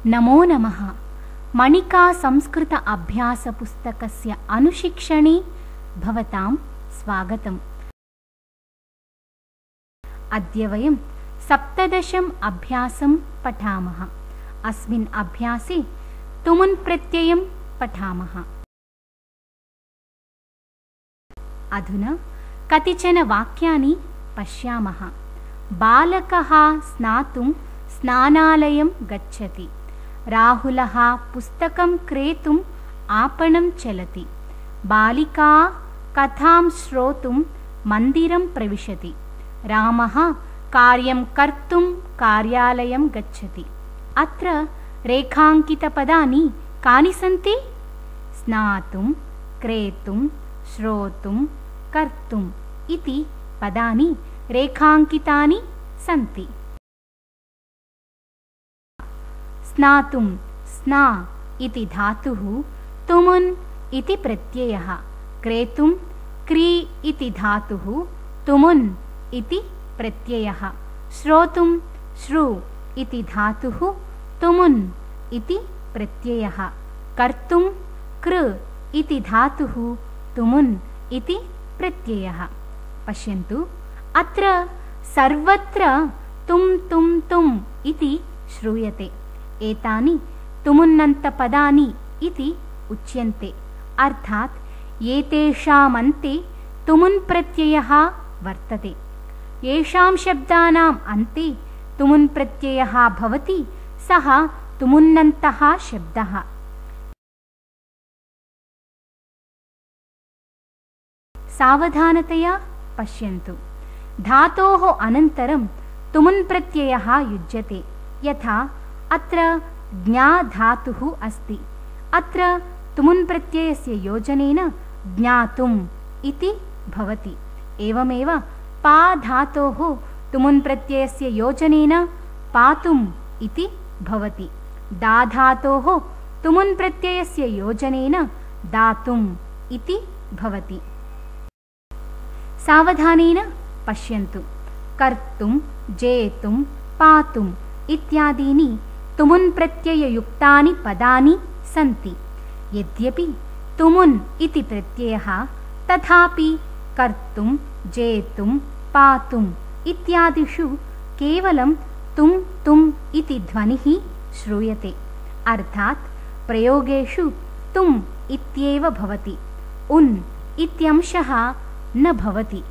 नमो नमः। मणिका संस्कृत अभ्यासपुस्तकस्य अनुशिक्षणे भवतां स्वागतम्। अद्य वयं 17 अभ्यासं पठामः। अस्मिन् अभ्यासे तुमुन् प्रत्ययं पठामः। अधुना कतिचन वाक्यानि पश्यामः। बालकः स्नातुं स्नानालयं गच्छति। राहुलः पुस्तकं क्रेतुम् आपणं चलति। बालिका कथां श्रोतुं मन्दिरं प्रविशति। रामः कार्यं कर्तुं कार्यालयं गच्छति। अत्र रेखाङ्कितपदानि कानि सन्ति? स्नातुं, क्रेतुं, श्रोतुं, कर्तुम् इति पदानि रेखाङ्कितानि सन्ति। स्नातुं स्ना इति धातुः, तुमुन् इति प्रत्ययः। क्रेतुं क्री इति धातुः, तुमुन् इति प्रत्ययः। श्रोतुं श्रु इति धातुः, तुमुन् इति प्रत्ययः। कर्तुं कृ इति धातुः, तुमुन् इति प्रत्ययः। पश्यन्तु, अत्र सर्वत्र तुं तुं तुम् इति श्रूयते। एतानि तुमुन्नन्तपदानि इति उच्यन्ते। अर्थात् एतेषामन्ते तुमुन् प्रत्ययः वर्तते। येषां शब्दानाम् अन्ते तुमुन् प्रत्ययः भवति सः तुमुन्नन्तः शब्दः। सावधानतया पश्यन्तु। धातोः अनन्तरं तुमुन् प्रत्ययः युज्यते। यथा अत्र ज्ञा धातुः अस्ति। अत्र तुमुन् प्रत्ययस्य योजनेन ज्ञातुम् इति भवति। एवमेव पा धातोः तुमुन् प्रत्ययस्य योजनेन पातुम् इति भवति। दा धातोः तुमुन् प्रत्ययस्य योजनेन दातुम् इति भवति। सावधानेन पश्यन्तु। कर्तुं, जेतुं, पातुम् इत्यादीनि तुमुन् प्रत्यययुक्तानि पदानि सन्ति। यद्यपि तुमुन् इति प्रत्ययः, तथापि कर्तुं, जेतुं, पातुम् इत्यादिषु केवलं तुं तुम् इति ध्वनिः श्रूयते। अर्थात् प्रयोगेषु तुम् इत्येव भवति। उन् इत्यंशः न भवति।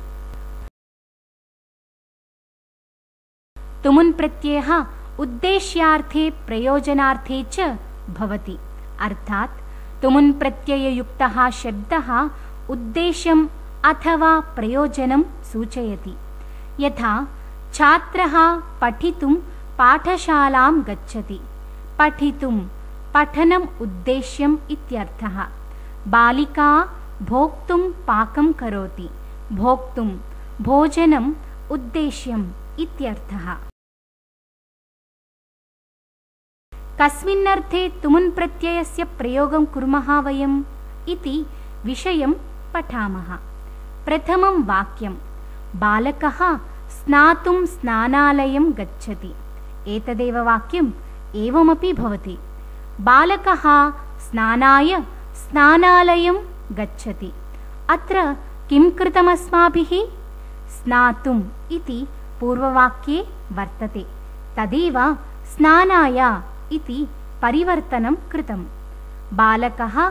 तुमुन् प्रत्ययः उद्देश्यार्थे प्रयोजनार्थे च भवति। अर्थात् तुमुन् प्रत्यययुक्तः शब्दः उद्देश्यम् अथवा प्रयोजनं सूचयति। यथा छात्रः पठितुं पाठशालां गच्छति। पठितुं पठनम् उद्देश्यम् इत्यर्थः। बालिका भोक्तुं पाकं करोति। भोक्तुं भोजनम् उद्देश्यम् इत्यर्थः। कस्मिन्नर्थे तुमुन् प्रत्ययस्य प्रयोगं कुर्मः वयम् इति विषयं पठामः। प्रथमं वाक्यं, बालकः स्नातुं स्नानालयं गच्छति। एतदेव वाक्यम् एवमपि भवति। बालकः स्नानाय स्नानालयं गच्छति। अत्र किं कृतमस्माभिः? स्नातुम् इति पूर्ववाक्ये वर्तते। तदेव स्नानाय इति परिवर्तनं कृतम्। बालकः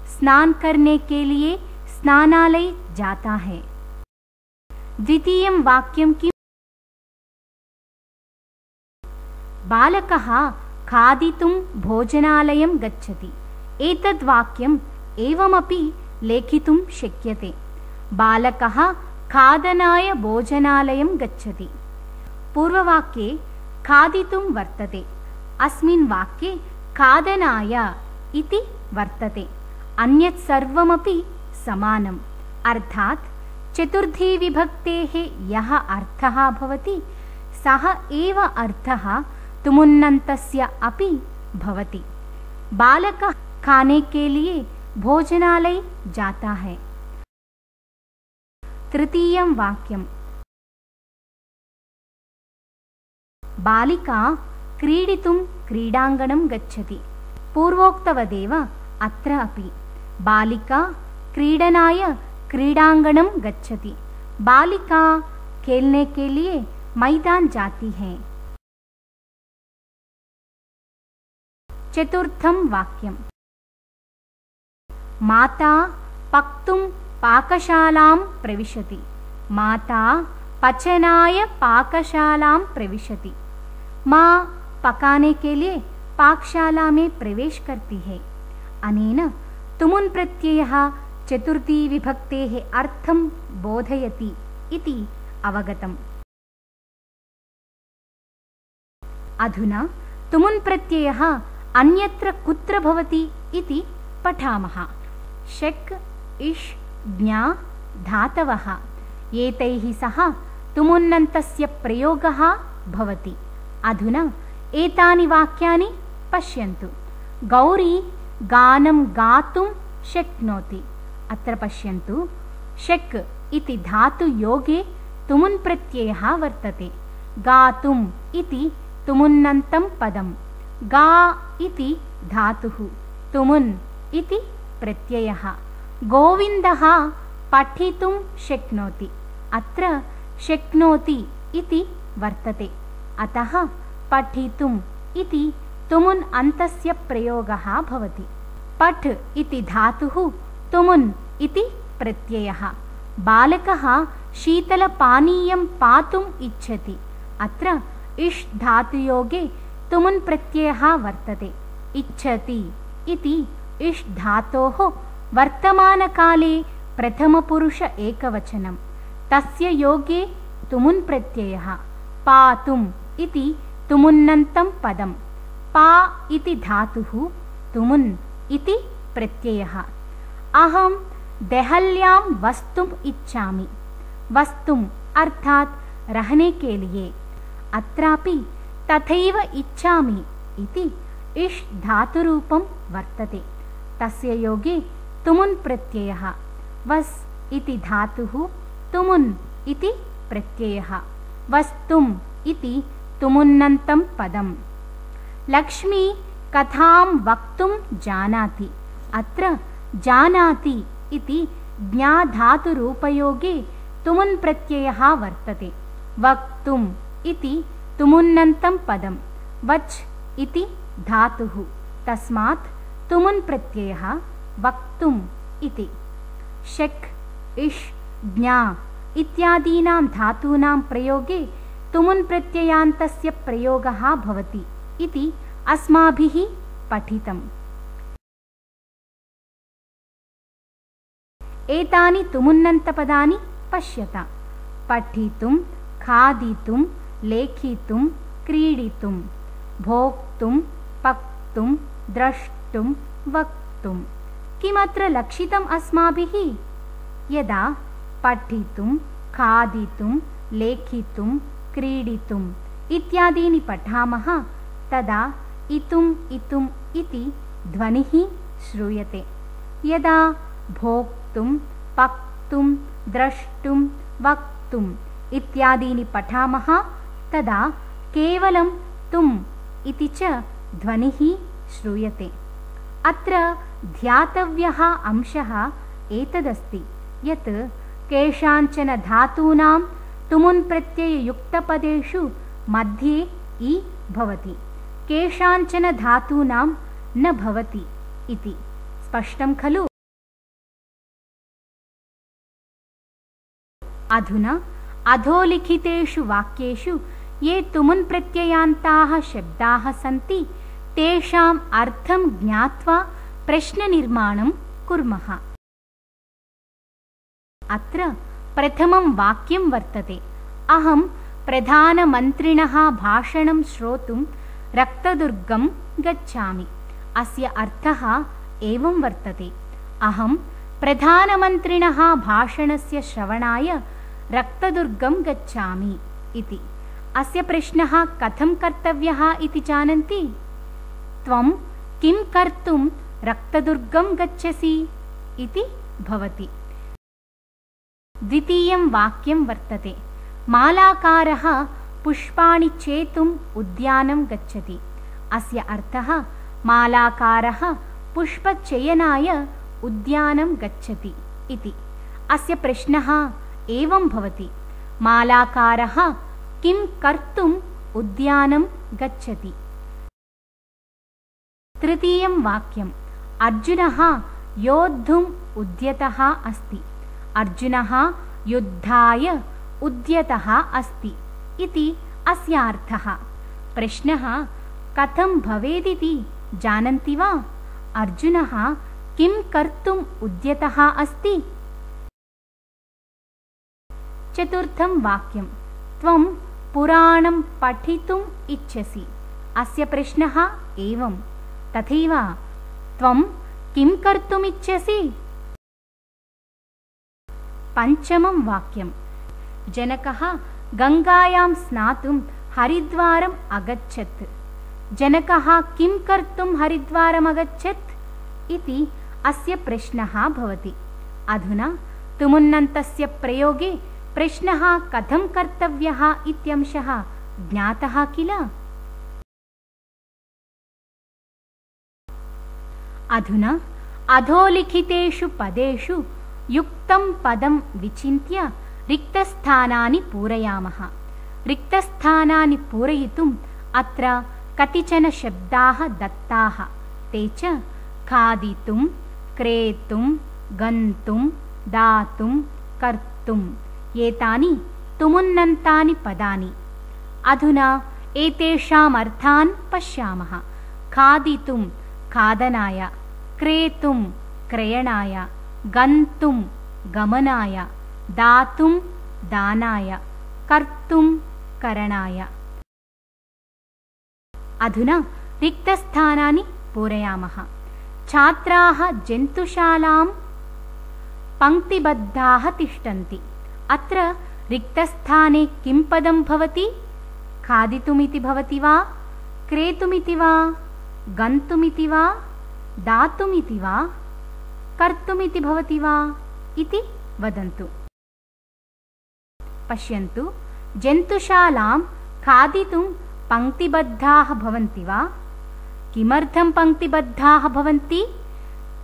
स्नान करने के लिए स्नानालय जाता है। द्वितीयं वाक्यं किम्? बालकः खादितुं भोजनालयं गच्छति। एतद् वाक्यम् एवमपि लेखितुं शक्यते। बालकः खादनाय भोजनालयं गच्छति। पूर्ववाक्ये खादितुं वर्तते। अस्मिन् वाक्ये खादनाय इति वर्तते। अन्यत् सर्वमपि समानम्। अर्थात् चतुर्थी विभक्तेः यः अर्थः भवति सः एव अर्थः तुमुन्नन्तस्य अपि भवति। बालकः खाने के लिए भोजनालय जाता है। तृतीयं वाक्यं, बालिका क्रीडितुं क्रीडाङ्गणं गच्छति। पूर्वोक्तवदेव अत्र अपि बालिका क्रीडनाय क्रीडाङ्गणं गच्छति। बालिका खेलने के लिए मैदान जाती है। चतुर्थं वाक्यम्। माता पक्तुं पाकशालां प्रविशति। माता पचनाय पाकशालां प्रविशति। माँ पकाने के लिए पाकशाला में प्रवेश करती है। अनेन तुमुन् प्रत्ययः चतुर्थी विभक्तेः अर्थं बोधयति इति अवगतम्। अधुना तुमुन् प्रत्ययः अन्यत्र कुत्र भवति इति पठामः। शक् इष् ज्ञा धातवः एतैः सह तुमुन्नन्तस्य प्रयोगः भवति। अधुना एतानि वाक्यानि पश्यन्तु। गौरी गानं गातुं शक्नोति। अत्र पश्यन्तु, शक् इति धातुयोगे तुमुन् प्रत्ययः वर्तते। गातुम् इति तुमुन्नन्तं पदं। गा इति धातुः, तुमुन् इति प्रत्ययः। गोविन्दः पठितुं शक्नोति। अत्र शक्नोति इति वर्तते। अतः पठितुम् इति तुमुन् अन्तस्य प्रयोगः भवति। पठ् इति धातुः, तुमुन् इति प्रत्ययः। बालकः शीतलपानीयं पातुम् इच्छति। अत्र इष् धातुयोगे तुमुन् प्रत्ययः वर्तते। इच्छति इति इष् धातोः वर्तमानकाले प्रथमपुरुष एकवचनं। तस्य योगे तुमुन् प्रत्ययः। पातुम् इति तुमुन्नन्तं पदं। पा इति धातुः, तुमुन् इति प्रत्ययः। अहं देहल्यां वस्तुम् इच्छामि। वस्तुम् अर्थात् रहने के लिए। अत्रापि तथैव इच्छामि इति इष् धातुरूपं वर्तते। तस्य योगे तुमुन् प्रत्ययः। वस् इति धातुः, तुमुन् इति प्रत्ययः। वस्तुम् इति तुमुन्नन्तं पदम्। लक्ष्मी कथां वक्तुं जानाति। अत्र जानाति इति ज्ञाधातुरूपयोगे तुमुन् प्रत्ययः वर्तते। वक्तुम् इति तुमुन्नन्तं पदं। वच् इति धातुः, तस्मात् तुमुन् प्रत्ययः वक्तुम् इति। शक् इष् ज्ञा इत्यादीनां धातूनां प्रयोगे तुमुन् प्रत्ययान्तस्य प्रयोगः भवति इति अस्माभिः पठितम्। एतानि तुमुन्नन्तपदानि पश्यता। पठितुं, खादितुं, लेखितुं, क्रीडितुं, भोक्तुं, पक्तुं, द्रष्टुं, वक्तुं। किमत्र लक्षितम् अस्माभिः? यदा पठितुं, खादितुं, लेखितुं, क्रीडितुम् इत्यादीनि पठामः तदा इतुम् इतुम् इति ध्वनिः श्रूयते। यदा भोक्तुं, पक्तुं, द्रष्टुं, वक्तुम् इत्यादीनि पठामः तदा केवलं तुम् इति च ध्वनिः श्रूयते। अत्र ध्यातव्यः अंशः एतदस्ति यत् केषाञ्चन धातूनां तुमुन् प्रत्यययुक्तपदेषु मध्ये इ भवति, केषाञ्चन धातूनां न भवति इति। स्पष्टं खलु? अधुना अधोलिखितेषु वाक्येषु ये तुमुन् प्रत्ययान्ताः शब्दाः सन्ति तेषाम् अर्थं ज्ञात्वा प्रश्ननिर्माणं कुर्मः। अत्र प्रथमं वाक्यं वर्तते। अहं प्रधानमन्त्रिणः भाषणं श्रोतुं रक्तदुर्गं गच्छामि। अस्य अर्थः एवं वर्तते। अहं प्रधानमन्त्रिणः भाषणस्य श्रवणाय रक्तदुर्गं गच्छामि इति। अस्य प्रश्नः कथं कर्तव्यः इति जानन्ति? त्वं किं कर्तुं रक्तदुर्गं गच्छसि इति भवति। द्वितीयं वाक्यं वर्तते। मालाकारः पुष्पाणि चेतुम् उद्यानं गच्छति। अस्य अर्थः मालाकारः पुष्पचयनाय उद्यानं गच्छति इति। अस्य प्रश्नः एवं भवति, मालाकारः किं कर्तुम् उद्यानं गच्छति? तृतीयं वाक्यम्, अर्जुनः योद्धुम् उद्यतः अस्ति। अर्जुनः युद्धाय उद्यतः अस्ति इति अस्य अर्थः। प्रश्नः कथं भवेदिति जानन्ति वा? अर्जुनः किं कर्तुम् उद्यतः अस्ति? चतुर्थं वाक्यं, त्वं पुराणं पठितुम् इच्छसि। अस्य प्रश्नः एवं, तथैव त्वं किं कर्तुम् इच्छसि? पञ्चमं वाक्यं, जनकः गङ्गायां स्नातुं हरिद्वारम् अगच्छत्। जनकः किं कर्तुं हरिद्वारम् अगच्छत् इति अस्य प्रश्नः भवति। अधुना तुमुन्नन्तस्य प्रयोगे प्रश्नः कथं कर्तव्यः इत्यंशः ज्ञातः किल? अधुना अधोलिखितेषु पदेषु युक्तं पदं विचिन्त्य रिक्तस्थानानि पूरयामः। रिक्तस्थानानि पूरयितुम् अत्र कतिचन शब्दाः दत्ताः। ते च खादितुं, क्रेतुं, गन्तुं, दातुं, कर्तुम्। एतानि तुमुन्नन्तानि पदानि। अधुना एतेषाम् अर्थान् पश्यामः। खादितुं खादनाय, क्रेतुं क्रयणाय, गन्तुं गमनाय, दातुं दानाय, कर्तुं करणाय। अधुना रिक्तस्थानानि पूरयामः। छात्राः जन्तुशालां पङ्क्तिबद्धाः तिष्ठन्ति। अत्र रिक्तस्थाने किं पदं भवति? खादितुमिति भवति वा, क्रेतुमिति वा, गन्तुमिति वा, दातुमिति वा, कर्तुमिति भवति वा इति वदन्तु। पश्यन्तु, जन्तुशालां खादितुं पङ्क्तिबद्धाः भवन्ति वा? किमर्थं पङ्क्तिबद्धाः भवन्ति?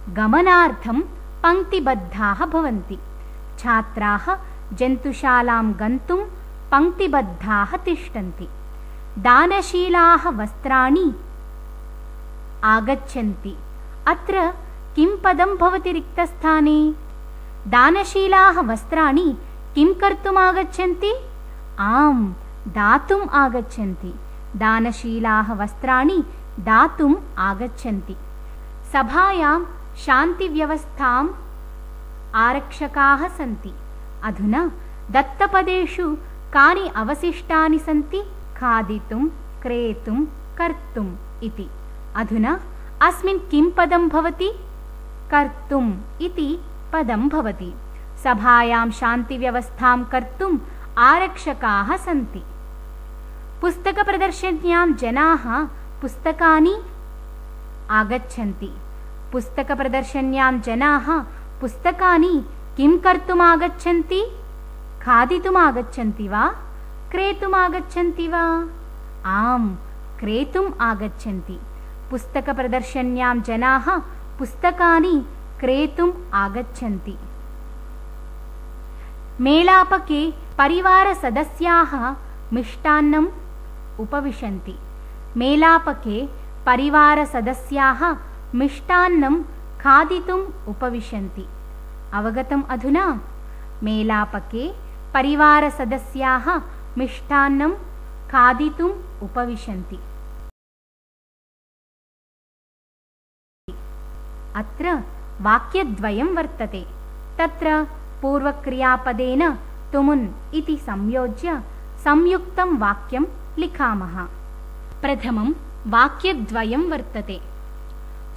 गमनार्थं पङ्क्तिबद्धाः भवन्ति। छात्राः जन्तुशालां गन्तुं पङ्क्तिबद्धाः तिष्ठन्ति। दानशीलाः वस्त्राणि आगच्छन्ति। अत्र किं पदं भवति रिक्तस्थाने? दानशीलाः वस्त्राणि किं कर्तुम् आगच्छन्ति? आम्, दातुम् आगच्छन्ति। दानशीलाः वस्त्राणि दातुम् आगच्छन्ति। सभायां शान्तिव्यवस्थाम् आरक्षकाः सन्ति। अधुना दत्तपदेषु कानि अवशिष्टानि सन्ति? खादितुं, क्रेतुं, कर्तुम् इति। अधुना अस्मिन् किं पदं भवति? कर्तुम् इति पदं भवति। सभायां शान्तिव्यवस्थां कर्तुम् आरक्षकाः सन्ति। पुस्तकप्रदर्शन्यां जनाः पुस्तकानि आगच्छन्ति। पुस्तकप्रदर्शन्यां जनाः पुस्तकानि किं कर्तुम् आगच्छन्ति? खादितुम् आगच्छन्ति वा, क्रेतुम् आगच्छन्ति वा? आम्, क्रेतुम् आगच्छन्ति। पुस्तकप्रदर्शन्यां जनाः पुस्तकानि क्रेतुम् आगच्छन्ति। मेलापके परिवारसदस्याः मिष्टान्नम् उपविशन्ति। मेलापके परिवारसदस्याः मिष्टान्नं खादितुम् उपविशन्ति। अवगतम् अधुना? मेलापके परिवारसदस्याः मिष्टान्नं खादितुम् उपविशन्ति। अत्र वाक्यद्वयं वर्तते। तत्र पूर्वक्रियापदेन तुमुन् इति संयोज्य संयुक्तं वाक्यं लिखामः। प्रथमं वाक्यद्वयं वर्तते।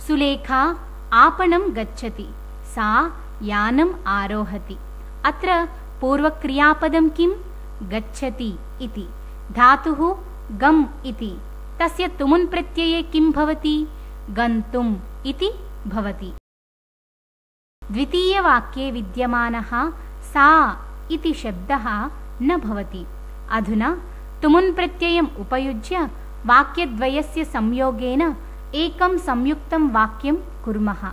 सुलेखा आपणं गच्छति, सा यानम् आरोहति। अत्र पूर्वक्रियापदं किं? गच्छति इति। धातुः गम् इति। तस्य तुमुन् प्रत्यये किं भवति? गन्तुम् इति भवति। द्वितीयवाक्ये विद्यमानः सा इति शब्दः न भवति। अधुना तुमुन् प्रत्ययम् उपयुज्य वाक्यद्वयस्य संयोगेन एकं संयुक्तं वाक्यं कुर्मः।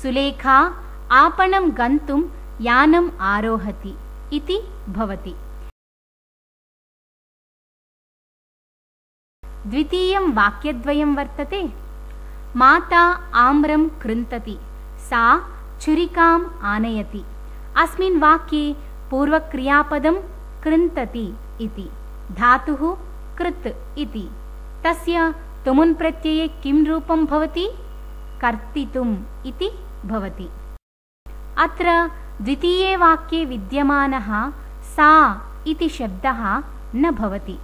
सुलेखा आपणं गन्तुं यानम् आरोहति इति भवति। द्वितीयं वाक्यद्वयं वर्तते। माता आम्रं कृन्तति, सा छुरिकाम् आनयति। अस्मिन् वाक्ये पूर्वक्रियापदं कृन्तति इति, धातुः कृत् इति। तस्य तुमुन् प्रत्यये किं रूपं भवति? कर्तितुम् इति भवति। अत्र द्वितीये वाक्ये विद्यमानः सा इति शब्दः न भवति।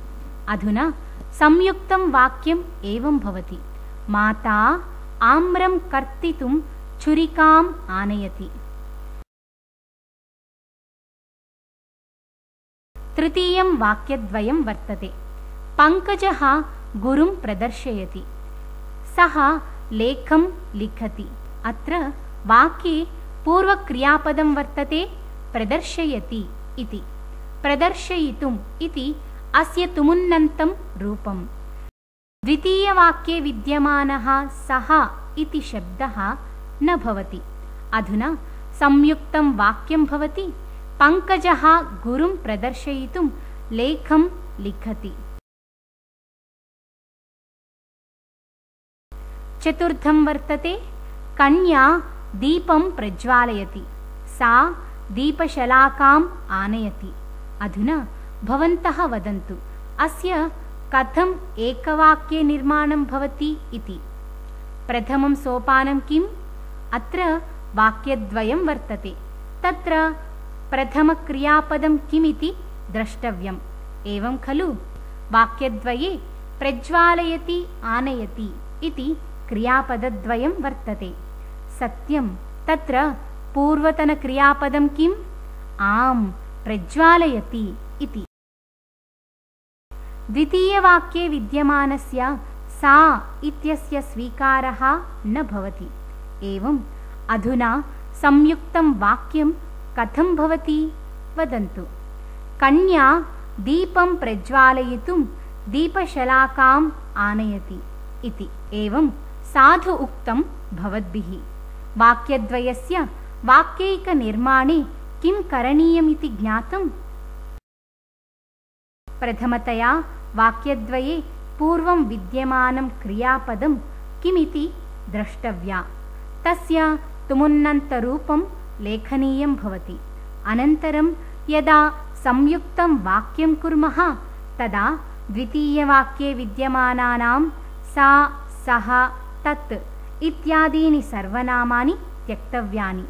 अधुना संयुक्तं वाक्यम् एवं भवति। माता आम्रं कर्तितुं छुरिकाम् आनयति। तृतीयं वाक्यद्वयं वर्तते। पङ्कजः गुरुं प्रदर्शयति, सः लेखं लिखति। अत्र वाक्ये पूर्वक्रियापदं वर्तते प्रदर्शयति इति। प्रदर्शयितुम् इति अस्य तुमुन्नन्तं रूपम्। द्वितीयवाक्ये विद्यमानः सः इति शब्दः न भवति। अधुना संयुक्तं वाक्यं भवति। पङ्कजः गुरुं प्रदर्शयितुं लेखं लिखति। चतुर्थं वर्तते। कन्या दीपं प्रज्वालयति, सा दीपशलाकाम् आनयति। अधुना भवन्तः वदन्तु, अस्य कथम् एकवाक्ये निर्माणं भवति इति। प्रथमं सोपानं किम्? अत्र वाक्यद्वयं वर्तते। तत्र प्रथमक्रियापदं किमिति द्रष्टव्यम्। एवं खलु? वाक्यद्वये प्रज्वालयति आनयति इति क्रियापदद्वयं वर्तते। सत्यं, तत्र पूर्वतनक्रियापदं किम्? आम्, प्रज्वालयति इति। द्वितीयवाक्ये विद्यमानस्य सा इत्यस्य स्वीकारः न भवति। एवम् अधुना संयुक्तं वाक्यं कथं भवति वदन्तु। कन्या दीपं प्रज्वालयितुं दीपशलाकाम् आनयति इति। एवं साधु उक्तं भवद्भिः। वाक्यद्वयस्य वाक्यैकनिर्माणे किं करणीयमिति ज्ञातम्? प्रथमतया वाक्यद्वये पूर्वं विद्यमानं क्रियापदं किमिति द्रष्टव्या। तस्य तुमुन्नन्तरूपं लेखनीयं भवति। अनन्तरं यदा संयुक्तं वाक्यं कुर्मः तदा द्वितीयवाक्ये विद्यमानानां सा, सः, तत् इत्यादीनि सर्वनामानि त्यक्तव्यानि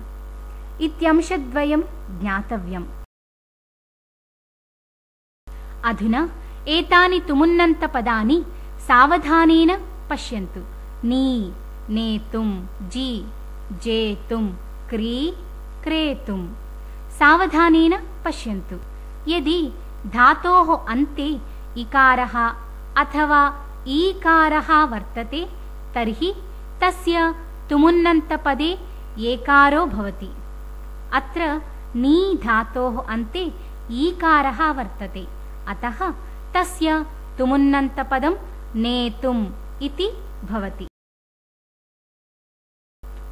इत्यंशद्वयं ज्ञातव्यम्। अधुना एतानि तुमुन्नन्तपदानि सावधानेन पश्यन्तु। नी, नेतुं, जी, जेतुं, क्री, क्रेतुं। सावधानेन पश्यन्तु। यदि धातोः अन्ते इकारः अथवा ईकारः वर्तते तर्हि तस्य तुमुन्नन्तपदे एकारो भवति। अत्र नी धातोः अन्ते ईकारः वर्तते, अतः तस्य तुमुन्नन्तपदं नेतुम् इति भवति।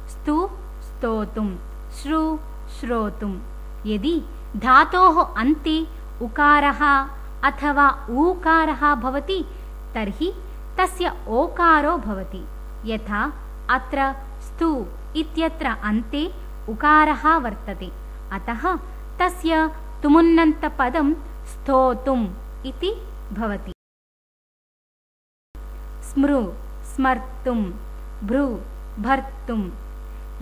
स्तु, स्तोतुं, श्रु, श्रोतुं। यदि धातोः अन्ते उकारः अथवा ऊकारः भवति तर्हि तस्य ओकारो भवति। यथा अत्र स्तु इत्यत्र अन्ते उकारः वर्तते, अतः तस्य तुमुन्नन्तपदं स्तोतुम् इति भवति। स्मृ, स्मर्तुं, भ्रू, भर्तुं।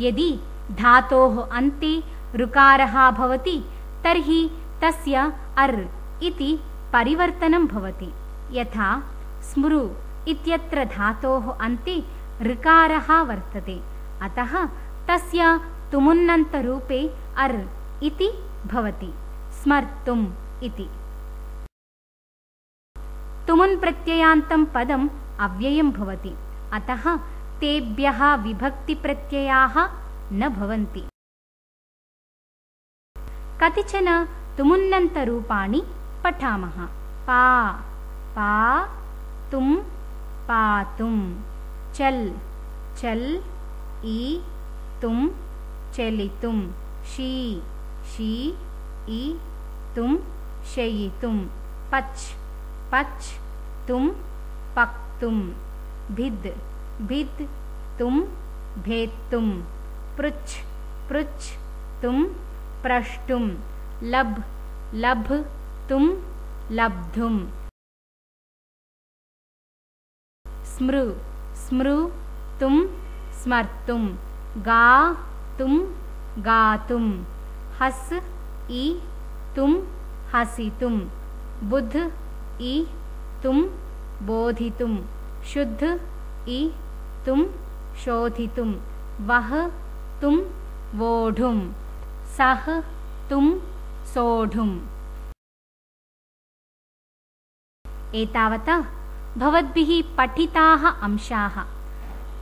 यदि धातोः अन्ते ऋकारः भवति तर्हि तस्य अर् इति परिवर्तनं भवति। यथा स्मृ इत्यत्र धातोः अन्ते ऋकारः वर्तते, अतः तस्य तुमुन्नन्तरूपे अर् इति भवति। स्मर्तुम् इति। तुमुन् प्रत्ययान्तं पदम् अव्ययं भवति, अतः तेभ्यः विभक्तिप्रत्ययाः न भवन्ति। कतिचन तुमुन्नन्तरूपाणि पठामः। पा, पातुं पातुं चल चल ईतुं चलितुं शी ईतुं शयितुं पच्तुं पक्तुं भिद्तुं भेत्तुं पृच्छतुं प्रष्टुं लब्धुं लब्धुं स्मृतुं स्मर्तुं गातुं गातुं हसितुं हसितुं बोधितुं बोधितुं शुद्धितुं शोधितुं वहतुं वोढुं सहतुं सोढुम्। एतावता भवद्भिः पठिताः अंशाः।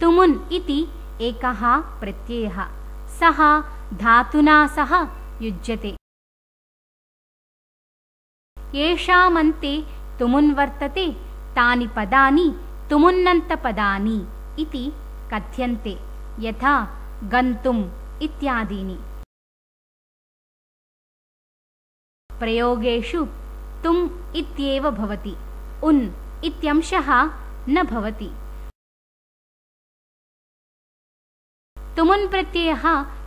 तुमुन् इति एकः प्रत्ययः, सः धातुना सह युज्यते। येषामन्ते तुमुन् वर्तते तानि पदानि तुमुन्नन्तपदानि इति कथ्यन्ते, यथा गन्तुम् इत्यादीनि। प्रयोगेषु तुम् इत्येव भवति, उन् इत्यंशः न भवति। तुमुन् प्रत्ययः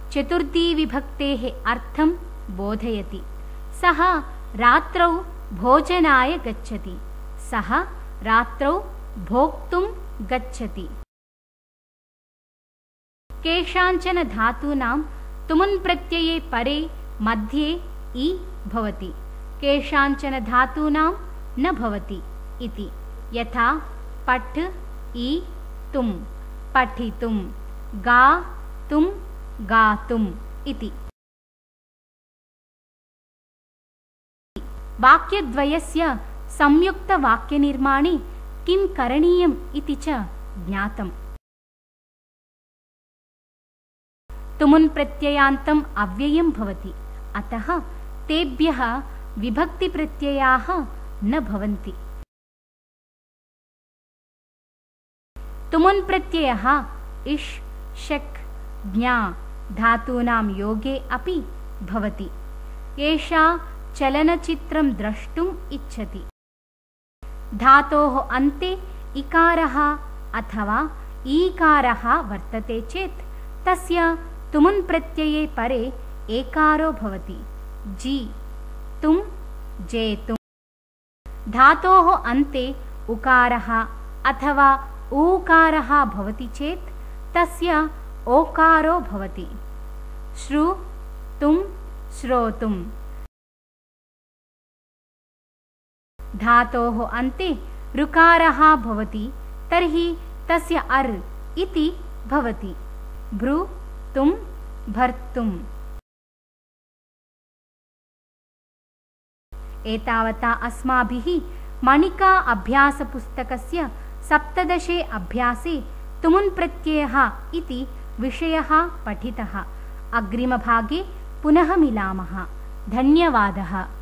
चतुर्थीविभक्तेः अर्थं बोधयति। सः रात्रौ भोजनाय गच्छति, सः रात्रौ भोक्तुं गच्छति। केषाञ्चन धातूनां तुमुन् प्रत्यये परे मध्ये इ भवति, केषाञ्चन धातूनां न भवति इति। यथा पठितुं पठितुं, गातुं गातुम् इति। वाक्यद्वयस्य संयुक्तवाक्यनिर्माणे किं करणीयम् इति च ज्ञातम्। तुमुन् प्रत्ययान्तम् अव्ययं भवति, अतः तेभ्यः विभक्तिप्रत्ययाः न भवन्ति। तुमुन् प्रत्ययः इष् शक् ज्ञा धातूनां योगे अपि भवति। एषा चलनचित्रं द्रष्टुम् इच्छति। धातोः अन्ते इकारः अथवा ईकारः वर्तते चेत् तस्य तुमुन् प्रत्यये परे एकारो भवति। जीतुं जेतुं। धातोः अन्ते उकारः अथवा ऊकारः भवति चेत् तस्य ओकारो भवति। श्रुतुं श्रोतुं। धातोः अन्ते ऋकारः भवति तर्हि तस्य अर् इति भवति। भ्रूतुं भर्तुम्। एतावता अस्माभिः मणिका अभ्यासपुस्तकस्य 17 अभ्यासे तुमुन् प्रत्ययः इति विषयः पठितः। अग्रिमभागे पुनः मिलामः। धन्यवादः।